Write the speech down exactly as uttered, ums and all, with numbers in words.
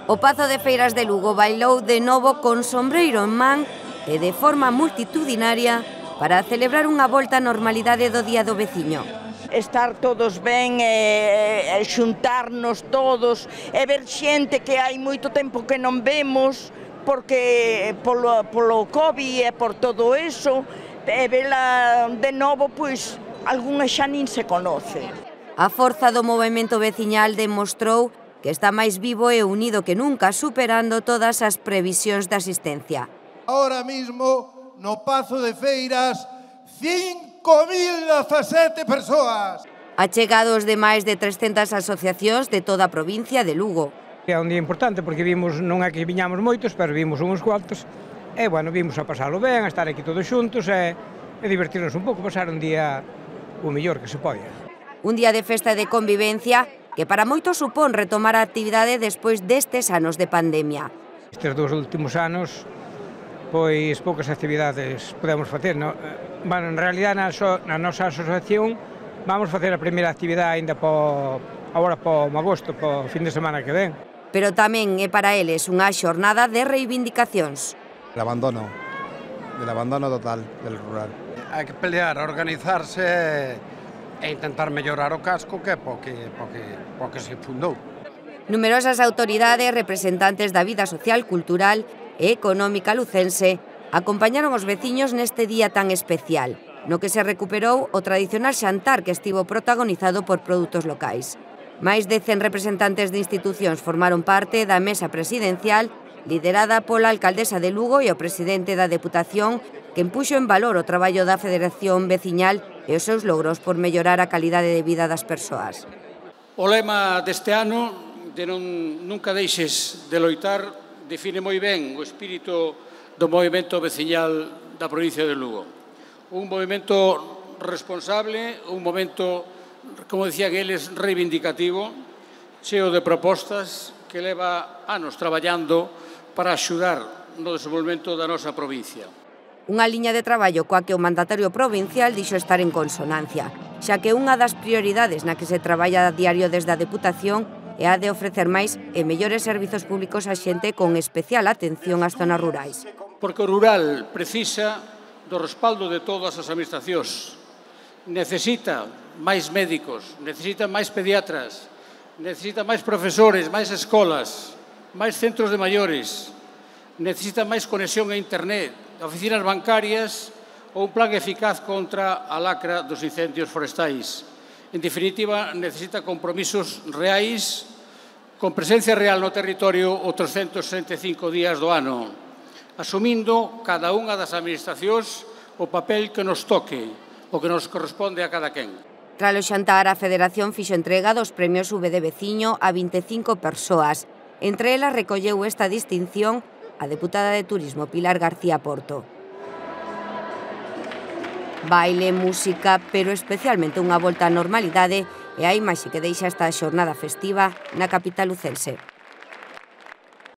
O Pazo de Feiras de Lugo bailou de novo con sombreiro en man e de forma multitudinaria para celebrar unha volta á normalidade do Día do Veciño. Estar todos ben, e, e xuntarnos todos, e ver xente que hai moito tempo que non vemos, porque polo, polo COVID e por todo eso, e vela de novo, pois, algunha xa nin se conoce. A forza do movemento veciñal demostrou que está máis vivo e unido que nunca, superando todas as previsións de asistencia. Ahora mismo, no Pazo de Feiras, cinco mil dezasete persoas. Achegados de máis de trescentas asociacións de toda a provincia de Lugo. É un día importante porque vimos, non é que viñamos moitos, pero vimos uns cuantos, e, bueno, vimos a pasalo ben, a estar aquí todos xuntos e, e divertirnos un pouco, pasar un día o mellor que se poida. Un día de festa e de convivencia que para moitos supón retomar a actividade despois destes anos de pandemia. Estes dous últimos anos, pois poucas actividades podemos facer, non? Bueno, en realidad na, so, na nosa asociación vamos facer a primeira actividade ainda po, agora po agosto, po fin de semana que ven. Pero tamén é para eles unha xornada de reivindicacións. El abandono, del abandono total del rural. Hai que pelear, organizarse e intentar mellorar o casco que é porque, porque, porque se fundou. Numerosas autoridades, representantes da vida social, cultural e económica lucense acompañaron os veciños neste día tan especial, no que se recuperou o tradicional xantar que estivo protagonizado por produtos locais. Máis de cen representantes de institucións formaron parte da mesa presidencial liderada pola alcaldesa de Lugo e o presidente da Deputación, que empuxo en valor o traballo da Federación Veciñal e os seus logros por mellorar a calidade de vida das persoas. O lema deste ano, de non, nunca deixes de loitar, define moi ben o espírito do movimento veciñal da provincia de Lugo. Un movimento responsable, un momento, como decían eles, reivindicativo, cheo de propostas que leva anos traballando para axudar no desenvolvemento da nosa provincia. Unha liña de traballo coa que o mandatario provincial dixo estar en consonancia, xa que unha das prioridades na que se traballa a diario desde a Deputación é a de ofrecer máis e mellores servizos públicos á xente con especial atención ás zonas rurais. Porque o rural precisa do respaldo de todas as administracións. Necesita máis médicos, necesita máis pediatras, necesita máis profesores, máis escolas, máis centros de maiores, necesita máis conexión a internet, oficinas bancarias ou un plan eficaz contra a lacra dos incendios forestais. En definitiva, necesita compromisos reais con presencia real no territorio os trescentos sesenta e cinco días do ano, asumindo cada unha das administracións o papel que nos toque, o que nos corresponde a cada quen. Tras o xantar, a Federación fixo entrega dos premios V de Veciño a vinte e cinco persoas. Entre elas recolleu esta distinción a deputada de Turismo Pilar García Porto. Baile, música, pero especialmente unha volta á normalidade e a imaxe que deixa esta xornada festiva na capital lucense.